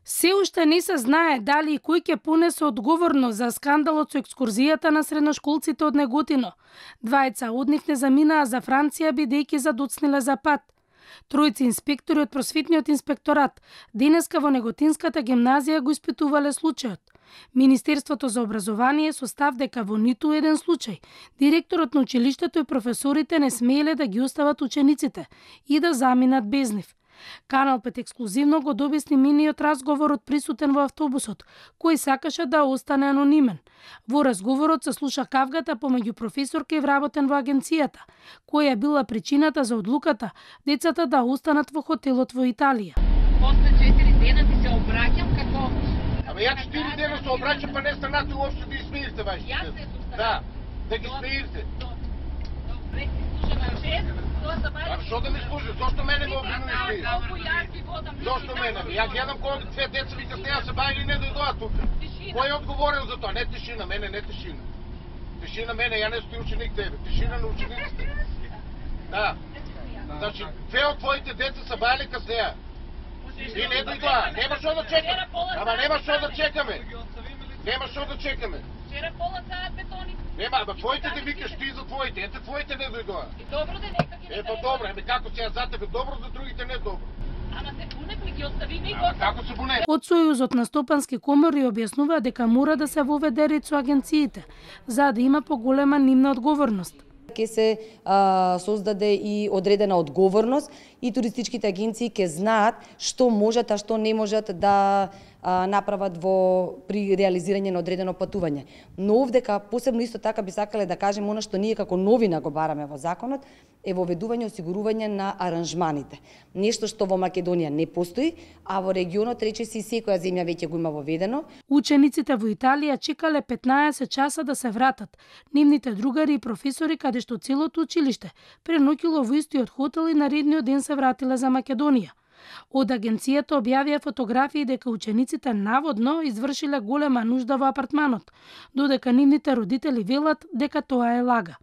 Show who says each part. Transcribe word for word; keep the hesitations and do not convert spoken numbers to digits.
Speaker 1: Се уште не се знае дали и кој ќе понесе одговорност за скандалот со екскурзијата на средношколците од Неготино. Двајца од нив не заминаа за Франција бидејќи задоцниле за пат. Тројци инспектори од просветниот инспекторат денеска во Неготинската гимназија го испитувале случајот. Министерството за образование со став дека во ниту еден случај директорот на училиштето и професорите не смееле да ги остават учениците и да заминат без нив. Канал пет ексклузивно го добесни миниот разговорот присутен во автобусот, кој сакаше да остане анонимен. Во разговорот се слуша кавгата помеѓу професорка и вработен во агенцијата, која била причината за одлуката децата да останат во хотелот во Италија.
Speaker 2: После четири дена ти се обраќам како...
Speaker 3: Ама ја четири дена се обраќам, па не станате уопште да измирите вашите.
Speaker 2: Јас се сустарам.
Speaker 3: Да, да ги смирите.
Speaker 2: Добре, ти слушаме шест.
Speaker 3: А што да ми служи? Зошто мене ме обвинуваш?
Speaker 2: Колку јас ти водам.
Speaker 3: Зошто мене? Ја гледам кој две деца вика с неја се бајали не дојдоа тука. Кој е одговорен за тоа? Не тишина, мене не тишина. Тишина мене, ја не стои ученик тебе. Тишина на учениците. Да. Значи, две од твоите деца се бајали кај неја. И не дојдоа. Нема што да чекаме. Ама нема што да чекаме. Нема што да чекаме.
Speaker 2: Вчера пола саат бетони.
Speaker 3: Нема, ама твоите да викаш ти за твоите, ете твоите не дојдоа.
Speaker 2: И добро да нека ги.
Speaker 3: Е, па добро, еме како сега за тебе добро, за другите не добро.
Speaker 2: Ама се буневме ги оставиме и го.
Speaker 3: Како се буневме?
Speaker 1: Од Сојузот на стопански комори објаснува дека мора да се воведе ред со агенциите, за да има поголема нивна одговорност.
Speaker 4: Ке се а, создаде и одредена одговорност и туристичките агенции ќе знаат што можат, а што не можат да а, направат во при реализирање на одредено патување. Но овдека посебно исто така би сакале да кажем она што ние како новина го бараме во законот е воведување осигурување на аранжманите. Нешто што во Македонија не постои, а во регионот речиси секоја земја веќе го има воведено.
Speaker 1: Учениците во Италија чекале петнаесет часа да се вратат. Нивните другари и професори каде што целото училиште преноќило во истиот хотел и наредниот ден се вратиле за Македонија. Од агенцијата објавија фотографии дека учениците наводно извршиле голема нужда во апартманот, додека нивните родители велат дека тоа е лага.